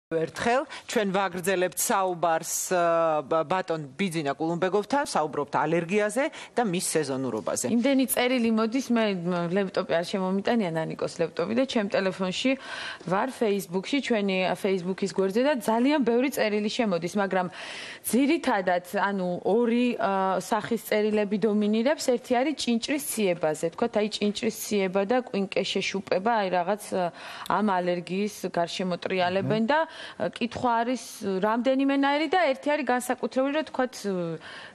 ერთხელ ჩვენ ვაგრძელებთ საუბარს ბატონ ბიძინა კულუმბეგოვთან, საუბრობთ ალერგიაზე და მის სეზონურობაზე. იმდენი წერილი მოდის, მე ლეპტოპი არ შემომიტანია ნანიკოს ლეპტოპი და ჩემ ტელეფონში ვარ Facebook-ში, ჩვენი Facebook-ის გვერდზე და ძალიან ბევრი წერილი შემოდის, მაგრამ ძირითადად, ანუ ორი სახის წერილები დომინირებს, ერთი არის ჭინჭრის ციებაზე, თქვათ, აი ჭინჭრის ციება და კვინკე შეშუპება, აი რაღაც ამ ალერგიის გარშემოტრიალებენ და კითხვა არის რამდენიმენაირი და ერთი არის განსაკუთრებული, რომ თქვათ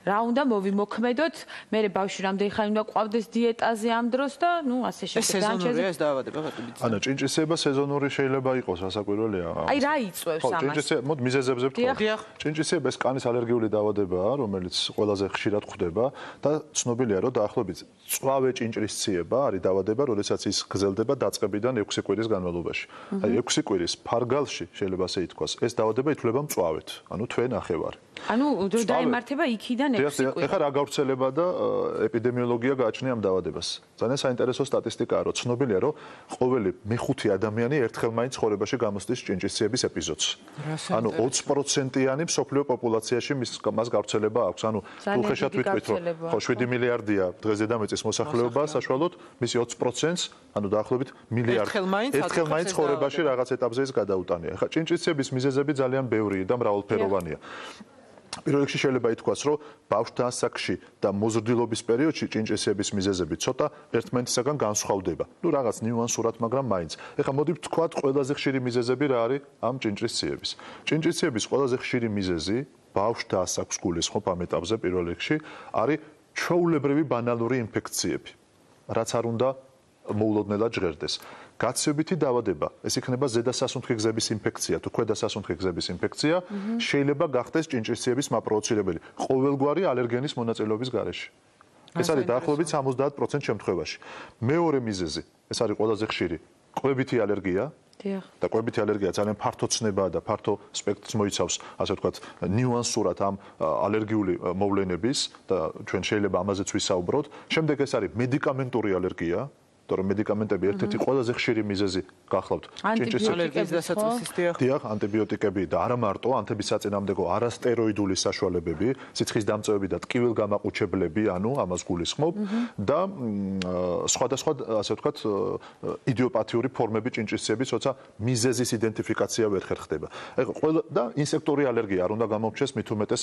რა უნდა მოვიმოქმედოთ, მე ბავშვი რამდენი ხანი უნდა ყვავდეს დიეტაზე ამ დროს და ნუ ასე ეს სეზონურია ეს დაავადება ბატონო. ანა ჭინჭისება სეზონური შეიძლება იყოს, რასაკვირველია. აი რა იწვევს ამას? ჭინჭისება, მოდ მიზეზებზე ვთქვა. ჭინჭისება ეს კანის ალერგიული დაავადებაა, რომელიც ყველაზე ხშირად ხვდება და ცნობილია, რომ დაახლოებით წვავე ჭინჭრის ციება არის დაავადება, როდესაც ის გრძელდება დაწყებიდან 6 კვირის განმავლობაში. აი 6 კვირის ფარგალში შეიძლება ასე ითქვას, ეს დაავადება ითვლება მწვავედ, ანუ თვე ნახევარი. ანუ რო დაემართება იქიდან 6 კვირი. ეხლა რა გავრცელება და ეპიდემიოლოგია გააჩნია ამ დაავადებას. ძალიან საინტერესო სტატისტიკაა, რომ ცნობილია, რომ ყოველი მეხუთე ადამიანი ერთხელ მაინც ცხოვრებაში გამოსდის ჭინჭისციების ეპიზოდს. ანუ 20%-იანი მსოფლიო პოპულაციაში მას გავრცელება აქვს. ანუ უხეშად ვიტყვით, რომ 7 მილიარდია დღეს დედამიწის მოსახლეობა, საშუალოდ მისი 20%-ს, ანუ დაახლოებით მილიარდი ერთხელ მაინც ცხოვრებაში რაღაც ეტაპზე ის გადაუტანია. ეხლა ჭინჭისციების მიზეზები ძალიან ბევრია და მრავალფეროვანია. პირველ რიგში შეიძლება ითქვას, რომ ბავშვთა ასაკში და მოზრდილობის პერიოდში ჭინჭისების მიზეზები ცოტა ერთმანეთისაგან განსხვავდება. ნუ რაღაც ნიუანსურად, მაგრამ მაინც. ეხლა მოდი ვთქვათ, ყველაზე ხშირი მიზეზები რა არის ამ ჭინჭისების. ჭინჭისების ყველაზე ხშირი მიზეზი ბავშვთა ასაკს გულისხმობ ამ ეტაპზე პირველ რიგში არის ჩვეულებრივი ბანალური ინფექციები, რაც არ უნდა მოულოდნელად ჟღერდეს. გაცივებითი დაავადება, ეს იქნება ზედასასუნთქი გზების ინფექცია თუ ქვედასასუნთქი გზების ინფექცია, შეიძლება გახდეს ჭინჭისების მაპროვოცირებელი ყოველგვარი ალერგენის მონაწილეობის გარეშე. ეს არის დაახლოებით 70% შემთხვევაში. მეორე მიზეზი, ეს არის ყველაზე ხშირი, კვებითი ალერგია. და კვებითი ალერგია ძალიან ფართო ცნებაა და ფართო სპექტრს მოიცავს, ასე ვთქვათ, ნიუანსურად ამ ალერგიული მოვლენების და ჩვენ შეიძლება ამაზეც ვისაუბროთ. შემდეგ ეს არის მედიკამენტური ალერგია. რომ მედიკამენტები ერთ-ერთი ყველაზე ხშირი მიზეზი გახლავთ ჭინჭის ალერგიის დასაწყისის დიახ, ანტიბიოტიკები და არა მარტო ანთებისაწინააღმდეგო არასტეროიდული საშუალებები, სიცხის დამწევები და ტკივილგამაყუჩებლები, ანუ ამას გულისხმობ და სხვადასხვა, ასე ვთქვათ, იდიოპათიური ფორმები ჭინჭისების, როცა მიზეზის იდენტიფიკაცია ვერ ხერხდება. ეხლა და ინსექტური ალერგია არ უნდა გამომჩეს მით უმეტეს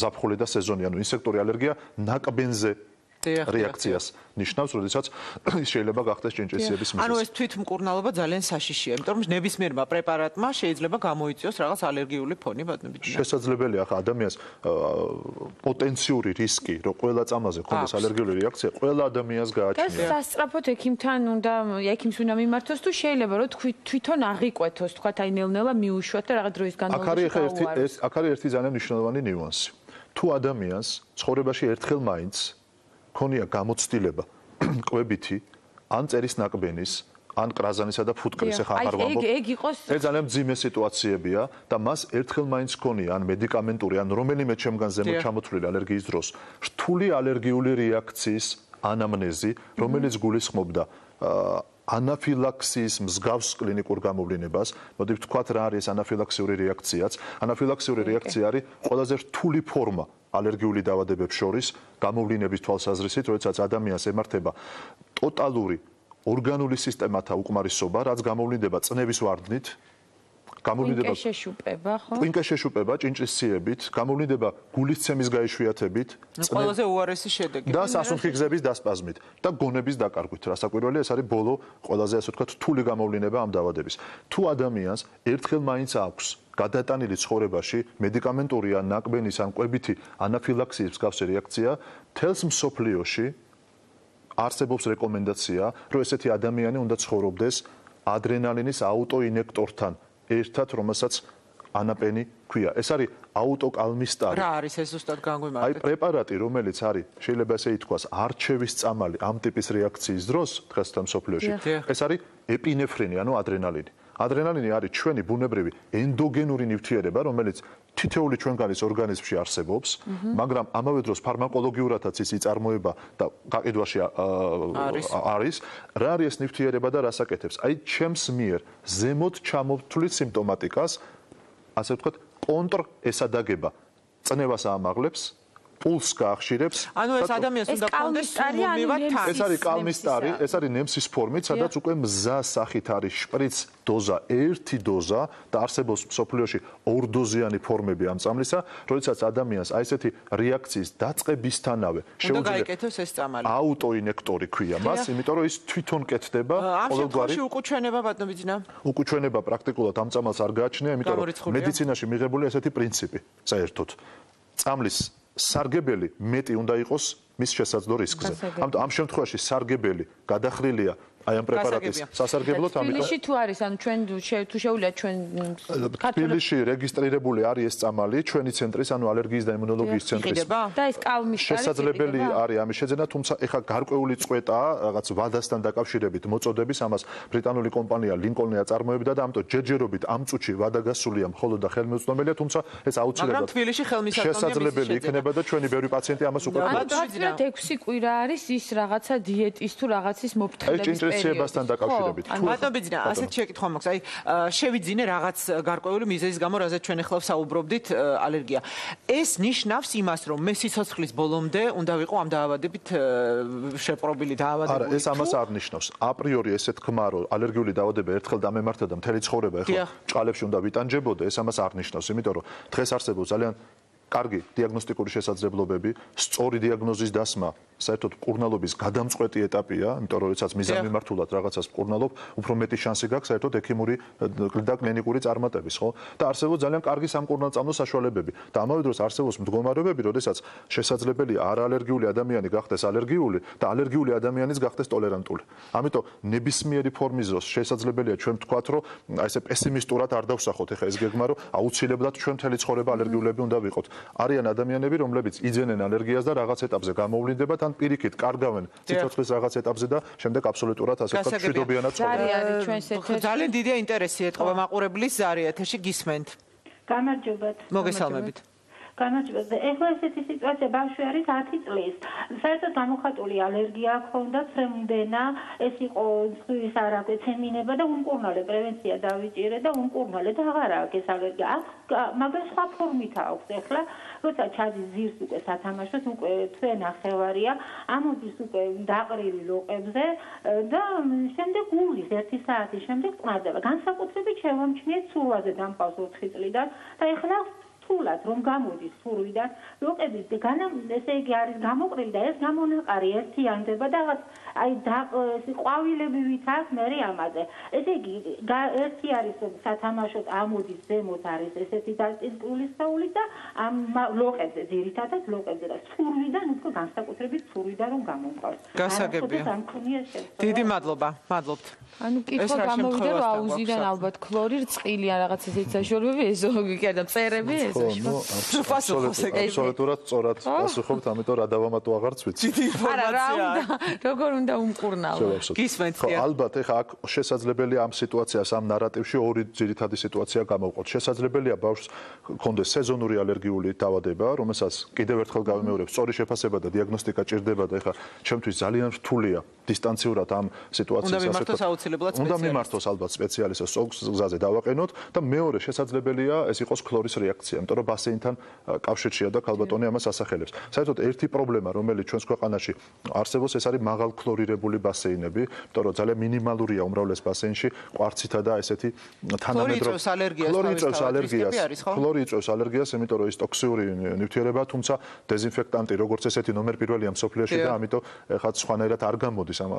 ზაფხული და სეზონი, ანუ ინსექტური ალერგია ნაკბენზე რეაქციას ნიშნავს, როდესაც შეიძლება გახდეს ჭინჭისების მიზეზი. ანუ ეს თვითმკურნალობა ძალიან საშიშია, იმიტომ რომ ნებისმიერმა პრეპარატმა შეიძლება გამოიწვიოს რაღაც ალერგიული ფონი ბატონებინა. შესაძლებელია ხა ადამიანს პოტენციური რისკი, რომ ყველა წამაზე ქონდეს ალერგიული რეაქცია, ყველა ადამიანს გააჩნია. და სასწრაფოდ ექიმთან უნდა, ექიმს უნდა მიმართოს თუ შეიძლება რომ თვითონ აღიკვეთოს, თქვათ აი ნელ-ნელა მიუშვათ და რაღაც დროის განმავლობაში. აქ არის ერთი ძალიან მნიშვნელოვანი ნიუანსი. თუ ადამიანს ცხოვრებაში ერთხელ მაინც ქონია გამოცდილება კვებითი ან წერის ნაკბენის ან კრაზანისა და ფუტკრის ახლა არ ვამბობ. ეს ძალიან მძიმე სიტუაციებია და მას ერთხელ მაინც ქონია ან მედიკამენტური ან რომელიმე ჩემგან ზემოთ ჩამოთვლილი ალერგიის დროს რთული ალერგიული რეაქციის ანამნეზი, რომელიც გულისხმობდა ანაფილაქსიის მსგავს კლინიკურ გამოვლენებას. მოდი ვთქვათ რა არის ანაფილაქსიური რეაქციაც. ანაფილაქსიური რეაქცია არის ყველაზე რთული ფორმა ალერგიული დაავადებებს შორის გამოვლენების თვალსაზრისით, როდესაც ადამიანს ემართება ტოტალური ორგანული სისტემათა უკმარისობა, რაც გამოვლენდება წნევის ვარდნით, გამოვლენდება კვინკე შეშუპება ჭინჭისციებით, გამოვლენდება გულისცემის გაიშვიათებით, ყველაზე უარესი შედეგი და სასუნთქი გზების დასპაზმით და გონების დაკარგვით. რასაკვირველია, ეს არის ბოლო ყველაზე ასე ვთქვათ რთული გამოვლენება ამ დაავადების. თუ ადამიანს ერთხელ მაინც აქვს გადატანილი ცხოვრებაში მედიკამენტური ან ნაკბენის ან კვებითი ანაფილაქსიის მსგავსი რეაქცია, თელს მსოფლიოში არსებობს რეკომენდაცია, რომ ესეთი ადამიანი უნდა ცხოვრობდეს ადრენალინის აუტოინექტორთან ერთად, რომელსაც ანაპენი ქვია. ეს არის აუტოკალმისტარი. რა არის ეს ზუსტად განგვიმარტეთ? აი პრეპარატი, რომელიც არის, შეიძლება ესე ითქვას, არჩევის წამალი ამ ტიპის რეაქციის დროს დღესთან მსოფლიოში. ეს არის ეპინეფრინი, ანუ ადრენალინი. ადრენალინი არის ჩვენი ბუნებრივი ენდოგენური ნივთიერება, რომელიც თითოეული ჩვენგანის ორგანიზმში არსებობს, მაგრამ ამავე დროს ფარმაკოლოგიურადაც ის იწარმოება და გაყიდვაში არის. რა არის ეს ნივთიერება და რას აკეთებს? აი ჩემს მიერ ზემოთ ჩამოთვლილ სიმპტომატიკას ასე ვთქვათ, კონტრესადაგება. წნევას აამაღლებს, პულს გაახშირებს. ანუ ეს ადამიანს უნდა კონდეს სულმომივად თან. ეს არის კალმისტარი, ეს არის ნემსის ფორმით, სადაც უკვე მზას სახით არის შპრიც დოზა, ერთი დოზა და არსებობს მსოფლიოში ორდოზიანი ფორმები ამ წამლისა, როდესაც ადამიანს აი ესეთი რეაქციის დაწყებისთანავე შეუძლია გაიკეთოს ეს წამალი. აუტოინექტორი ქვია მას, იმიტომ რომ ის თვითონ კეთდება ყოველგვარი უკუჩვენება ბატონებიძინა. უკუჩვენება პრაქტიკულად ამ წამალს არ გააჩნია, იმიტომ რომ მედიცინაში მიღებულია ესეთი პრინციპი, საერთოდ. წამლის სარგებელი მეტი უნდა იყოს მის შესაძლო რისკზე. ამიტომ ამ შემთხვევაში სარგებელი გადახრილია აი ამ პრეპარატის სასარგებლოდ, ამიტომ თბილისში თუ არის, ანუ ჩვენ თუ შეუძლიათ ჩვენ თბილისში რეგისტრირებული არის ეს წამალი ჩვენი ცენტრის, ანუ ალერგიის და იმუნოლოგიის ცენტრის. და ეს კალმისტარი შესაძლებელი არის ამის შეძენა, თუმცა ეხა გარკვეული წვეტაა რაღაც ვადასთან დაკავშირებით მოწოდების, ამას ბრიტანული კომპანია ლინკოლნია წარმოებდა და ამიტომ ჯერჯერობით ამ წუთში ვადა გასულია მხოლოდ და ხელმისაწვდომელია, თუმცა ეს აუცილებლად შესაძლებელი იქნება და ჩვენი ბევრი პაციენტი ამას უკვე გახლავთ 6 კვირა არის ის რაღაცა დიეტის თუ რაღაცის მოფრთხილების ინტენსივებასთან დაკავშირებით. ბატონებიძინა, ასეთ შეკითხვა მაქვს. აი, შევიძინე რაღაც გარკვეული მიზეზის გამო, რაზეც ჩვენ ახლა ვსაუბრობდით, ალერგია. ეს ნიშნავს იმას, რომ მე სიცოცხლის ბოლომდე უნდა ვიყო ამ დაავადებით შეპყრობილი დაავადებული. არა, ეს ამას არ ნიშნავს. აპრიორი ესე თქმა, რომ ალერგიული დაავადება ერთხელ დამემართა და მთელი ცხოვრება ეხლა ჭყალებში უნდა ვიტანჯებოდე, ეს ამას არ ნიშნავს, იმიტომ რომ დღეს არსებობს ძალიან კარგი დიაგნოსტიკური შესაძლებლობები, სწორი დიაგნოზის დასმა საერთოდ მკურნალობის გადამწყვეტი ეტაპია, იმიტომ რომ როდესაც მიზანმიმართულად რაღაცას მკურნალობ, უფრო მეტი შანსი გაქვს საერთოდ ექიმური და კლინიკური წარმატების, ხო? და არსებობს ძალიან კარგი სამკურნალწამლო საშუალებები. და ამავე დროს არსებობს მდგომარეობები, როდესაც შესაძლებელია არაალერგიული ადამიანი გახდეს ალერგიული და ალერგიული ადამიანიც გახდეს ტოლერანტული. ამიტომ ნებისმიერი ფორმის დროს შესაძლებელია ჩვენ ვთქვათ, რომ აი ესე პესიმისტურად არ დავსახოთ ეხა ეს გეგმა, რომ აუცილებლად ჩვენ მთელი ცხოვრება ალერგიულები უნდა ვიყოთ. არიან ადამიანები, რომლებიც იძენენ ალერგიას და რაღაც ეტაპზე გამოვლინდებათ, ან პირიქით კარგავენ სიცოცხლის რაღაც ეტაპზე და შემდეგ აბსოლუტურად ასე ვთქვათ, მშვიდობიანად ცხოვრობენ. ძალიან დიდია ინტერესი ეთყობა მაყურებლის ზარი ეთერში გისმენთ. გამარჯობათ. მოგესალმებით. განაჩვენე ეხლა ესეთი სიტუაცია ბავშვი არის 10 წლის. საერთოდ გამოხატული ალერგია ჰქონდა, ფრემდენა, ეს იყო ზღვის არაკვე ცემინება და უმკურნალე პრევენცია დავიჭირე და უმკურნალე და აღარ აქვს ეს ალერგია. მაგრამ სხვა ფორმით აქვს ეხლა, როცა ჩადის ძირს უკვე სათამაშოდ, უკვე თვე ნახევარია, ამოდის უკვე დაყრილი ლოყებზე და შემდეგ გულის 1 საათის შემდეგ წმარდება. განსაკუთრებით შევამჩნიეთ სურვაზე დამყავს 4 წლიდან და ეხლა სულად რომ გამოდის სურვიდან ლოყების ესე იგი არის გამოყრილი და ეს გამონაყარი ერთიანდება და აი ყვავილები ვითარ მე ამაზე ესე იგი ერთი არის სათამაშოდ ამოდის ზემოთ არის ესეთი დაწინკული საული და ამ ლოყებზე ძირითადად ლოყებზე და სურვიდან უკვე განსაკუთრებით სურვიდან რომ გამომყავს გასაგებია დიდი მადლობა მადლობთ ანუ კითხვა გამოვიდა რომ აუზიდან ალბათ ქლორი რწყილი ან რაღაც ესეთი საშუალებები ეზოგი კი არა მწერები აბსოლუტურად სწორად პასუხობთ, ამიტომ რა დავამატო აღარც ვიცი. არა, რა უნდა, როგორ უნდა უმკურნალო. გისმენთ. ალბათ, ეხა აქ შესაძლებელია ამ სიტუაციას, ამ ნარატივში ორი ძირითადი სიტუაცია გამოვყოთ. შესაძლებელია ბავშვს ჰქონდეს სეზონური ალერგიული დაავადება, რომელსაც კიდევ ერთხელ გავიმეორებ, სწორი შეფასება და დიაგნოსტიკა ჭირდება და ეხა ჩემთვის ძალიან რთულია დისტანციურად ამ სიტუაციას უნდა მიმართოს ალბათ სპეციალისტს გზაზე დავაყენოთ და მეორე შესაძლებელია ეს იყოს ქლორის რეაქცია, იმიტომ რომ ბასეინთან კავშირშია და ქალბატონი ამას ასახელებს. საერთოდ ერთი პრობლემა, რომელიც ჩვენს ქვეყანაში არსებობს, ეს არის მაღალქლორირებული ბასეინები, იმიტომ რომ ძალიან მინიმალურია უმრავლეს ბასეინში კვარცითა და ესეთი თანამედროვე ქლორი იწვევს ალერგიას, იმიტომ რომ ის ტოქსიური ნივთიერებაა, თუმცა დეზინფექტანტი როგორც ესეთი ნომერ პირველია მსოფლიოში და ამიტომ ხა სხვანაირად არ გამოდის ამ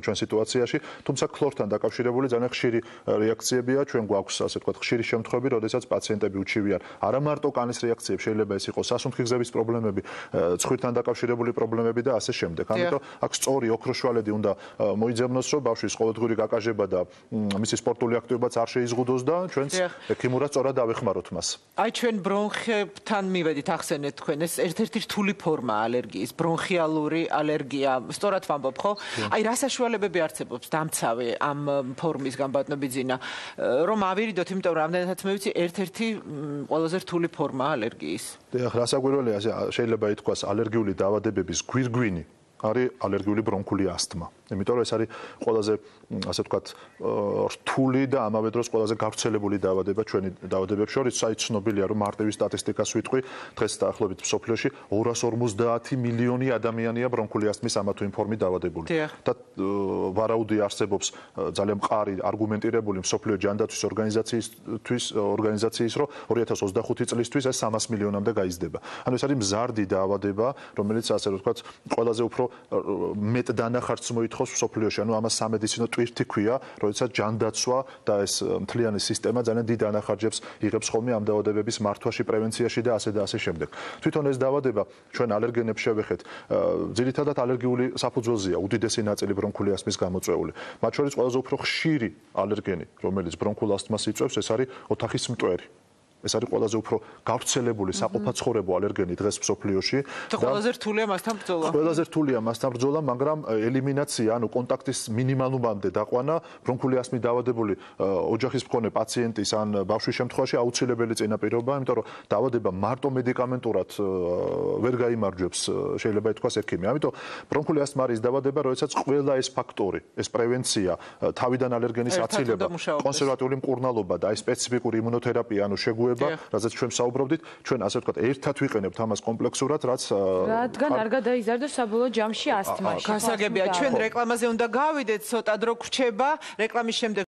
ჩვენ სიტუაციაში, თუმცა ქლორთან დაკავშირებული ძალიან ხშირი რეაქციებია, ჩვენ გვაქვს ასე ვთქვათ ხშირი შემთხვევები, როდესაც პაციენტები უჩივიან არა მარტო კანის რეაქციები, შეიძლება ეს იყოს სასუნთქი გზების პრობლემები, ცხვირთან დაკავშირებული პრობლემები და ასე შემდეგ. ამიტომ აქ სწორი ოქროშვალედი უნდა მოიძებნოს, რომ ბავშვის ყოველდღიური გაკაჟება და მისი სპორტული აქტივობაც არ შეიზღუდოს და ჩვენც ექიმურად სწორად დავეხმაროთ მას. აი ჩვენ ბრონხებთან მივედით, ახსენეთ თქვენ, ეს ერთ-ერთი რთული ფორმა ალერგიის, ბრონხიალური ალერგია. სწორად ვამბობ, ხო? აი რა საშუალებები არსებობს დამცავი ამ ფორმის გამბატნობიძინა, რომ ავირიდოთ, იმიტომ რომ რამდენადაც მე ვიცი, ერთ-ერთი ყველაზე რთული ფორმა ალერგიის. დიახ, რასაკვირველია, შეიძლება ითქვას ალერგიული დაავადებების გვირგვინი არის ალერგიული ბრონქული ასთმა. იმიტომ რომ ეს არის ყველაზე, ასე ვთქვათ, რთული და ამავე დროს ყველაზე გავრცელებული დაავადება ჩვენი დაავადებებს შორის. აი ცნობილია რომ მარტივი სტატისტიკას ვიტყვი, დღეს დაახლოებით მსოფლიოში 250 მილიონი ადამიანია ბრონქული ასთმის ამა თუ იმ ფორმით დაავადებული. და ვარაუდი არსებობს ძალიან მყარი არგუმენტირებული მსოფლიო ჯანდაცვის ორგანიზაციის რომ 2025 წლისთვის ეს 300 მილიონამდე გაიზრდება. ანუ ეს არის მზარდი დაავადება, რომელიც ასე ვთქვათ, ყველაზე უფრო მეტ დანახარჯს მოითხოვს მსოფლიოში. ანუ ამას სამედიცინო ტვირთი ქვია, როდესაც ჯანდაცვა და ეს მთლიანი სისტემა ძალიან დიდ დანახარჯებს იღებს ხოლმე ამ დაავადებების მართვაში, პრევენციაში და ასე შემდეგ. თვითონ ეს დაავადება ჩვენ ალერგენებს შევეხეთ, ძირითადად ალერგიული საფუძველზეა უდიდესი ნაწილი ბრონქული ასთმის გამოწვეული. მათ შორის ყველაზე უფრო ხშირი ალერგენი, რომელიც ბრონქულ ასთმას იწვევს, ეს არის ოთახის მტვერი. ეს არის ყველაზე უფრო გავრცელებული საყოფაცხოვრებო ალერგენი დღეს მსოფლიოში და ყველაზე რთულია მასთან ბრძოლა. ყველაზე რთულია მასთან ბრძოლა, მაგრამ ელიმინაცია, ანუ კონტაქტის მინიმალუმამდე დაყვანა ბრონქული ასთმით დაავადებული ოჯახის მქონე პაციენტის ან ბავშვის შემთხვევაში აუცილებელი წინაპირობაა, იმიტომ რომ დაავადება მარტო მედიკამენტურად ვერ გაიმარჯვებს, შეიძლება ითქვას ექიმი. ამიტომ ბრონქული ასთმა არის დაავადება, როდესაც ყველა ეს ფაქტორი, ეს პრევენცია, თავიდან ალერგენის აცილება, კონსერვატიული მკურნალობა და აი სპეციფიკური იმუნოთერაპია, ანუ შეგუება რაზეც ჩვენ საუბრობდით, ჩვენ ასე ვთქვათ, ერთად ვიყენებთ ამას კომპლექსურად, რადგან არ გადაიზარდოს საბოლოო ჯამში ასთმაში. გასაგებია, ჩვენ რეკლამაზე უნდა გავიდეთ, ცოტა დრო გვრჩება, რეკლამის შემდეგ